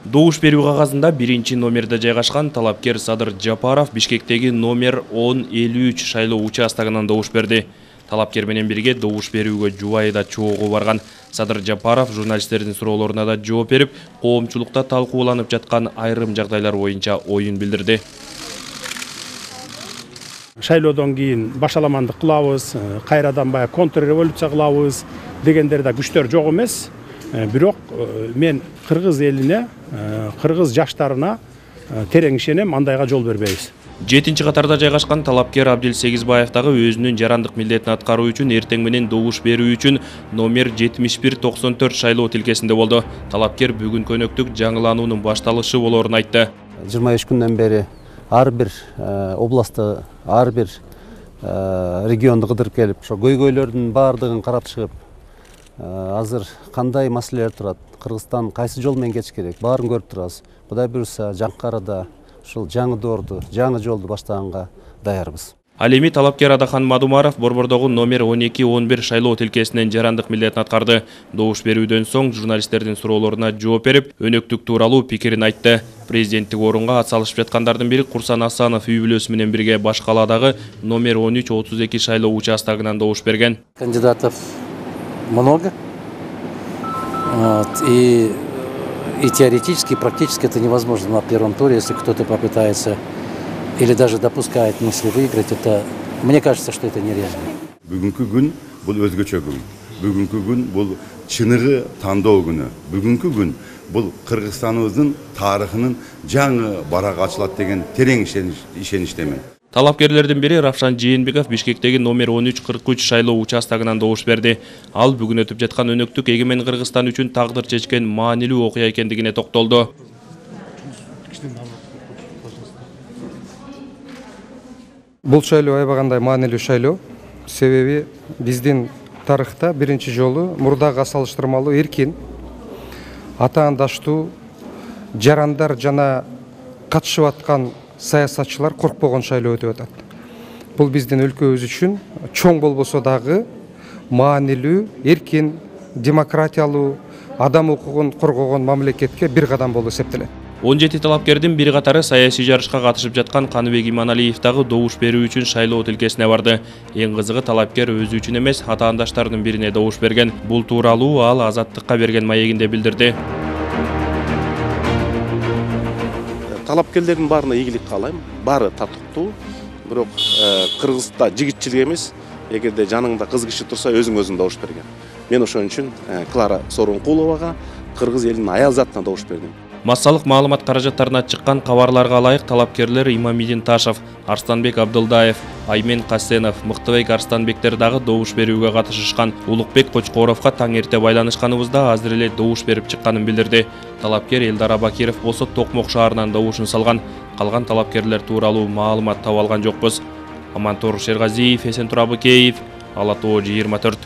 Добуш берүү кагазында 1-номерде жайгашкан талапкер Садыр Жапаров Бишкектеги номер 1053 шайлоо участогунан добуш берди. Талапкер менен бирге добуш берүүгө Жубайда чогуу барган Садыр Жапаров журналисттердин суроолоруна да жооп берип, коомчулукта талкууланып жаткан айрым жагдайлар боюнча оюн билдирди. Шайлоодон кийин башаламандык кылабыз, кайрадан баягы контрреволюция кылабыз дегендер да күчтөр жок эмес. Бирок мен кыргыз элине, кыргыз жаштарына терең ишенем, андайга жол бербейбиз. 7-катарда жайгашкан талапкер Абдил Сегизбаев дагы өзүнүн жарандык милдетин аткаруу үчүн эртең менен добуш берүү үчүн номер 7194 шайлоо тилкесинде болду. Талапкер бүгүн көнөктүк жаңылануунун башталышы болоорун айтты. 23 күндөн бери ар бир областты, ар бир регионду кыдырып келип, ошо көйгөйлөрдүн баардыгын карап чыгып, азыр кандай маселелер турат, Кыргызстан кайсы жол менен кетиш керек, баарын көрүп турабыз. Кудай буюрса, Жаңкарада ушул жаңы доорду, жаңы жолду баштаганга даярбыз. Ал эми талапкер Адахан Мадумаров Борбордогу номер 12-11 шайлоо тилкесинен жарандык милдетин аткарды. Добуш берүүдөн соң журналисттердин суроолоруна жооп берип, өнөктүк тууралуу пикирин айтты. Президенттик орунга атсалышып жаткандардын бири Курсан Асанов үй бүлөсү менен бирге баш каладагы номер 13-32 шайлоо участогунан добуш берген. Кандидатов много, и теоретически, и практически это невозможно на первом туре, если кто-то попытается или даже допускает мысли выиграть, это, мне кажется, что это нереально. Бүгүнкү күн бул өзгөчө күн. Бүгүнкү күн бул чыныгы тандоо күнү. Бүгүнкү күн бул Кыргызстаныбыздын тарыхынын жаңы барак ачылат деген терең ишеничтемин. Талапкерлердин бири Равшан Жээнбеков Бишкектеги номер 1343 шайлоо участогунан добуш берди. Ал бүгүн өтүп жаткан өнөктүк эгемен Кыргызстан үчүн тагдыр чечкен маанилүү окуя экендигине токтолду. Бул шайлоо аябагандай маанилүү шайлоо. Себеби биздин тарыхта биринчи жолу мурдага салыштырмалуу эркин, атаандаштуу жарандар жана катышып аткан саясатчылар коркпогон шайлоо өтүп атат. Бул биздин өлкөбүз үчүн чоң болбосо дагы маанилүү, эркин, демократиялуу, адам укугун коргогон мамлекетке бир кадам болуп эсептелет. 17 талапкердин бир катары саясий жарышка катышып жаткан Каныбек Иманалиев дагы добуш берүү үчүн шайлоо тилкесине барды. Эң кызыгы талапкер өзү үчүн эмес, атаандаштарынын бирине добуш берген. Бул тууралуу ал Азаттыкка берген маегинде билдирди. Талапкерлердин баарына ийгилик каалайм. Баары татыктуу, бирок Кыргызда жигитчилик эмес. Эгерде жаныңда кыз киши турса, өзүң добуш берген. Мен ошон үчүн Клара Сооронкуловага, кыргыз элинин аял затына добуш бердим. Массалык маалымат каражаттарына чыккан кабарларга ылайык талапкерлер Имамидин Ташев, Арстанбек Абдылдаев, Аймен Касенов, Мыктыбек Арстанбектер дагы добуш берүүгө катышышкан. Улукбек Кочкоровго таң эрте байланышканыбызда азыр эле добуш берип чыкканын билдирди. Талапкер Элдар Абакиров болсо Токмок шаарынан добушун салган. Калган талапкерлер тууралуу маалымат таба алган жокпуз. Амантор Шергазиев, Эсентур Абыкеев, Ала Тоо 24.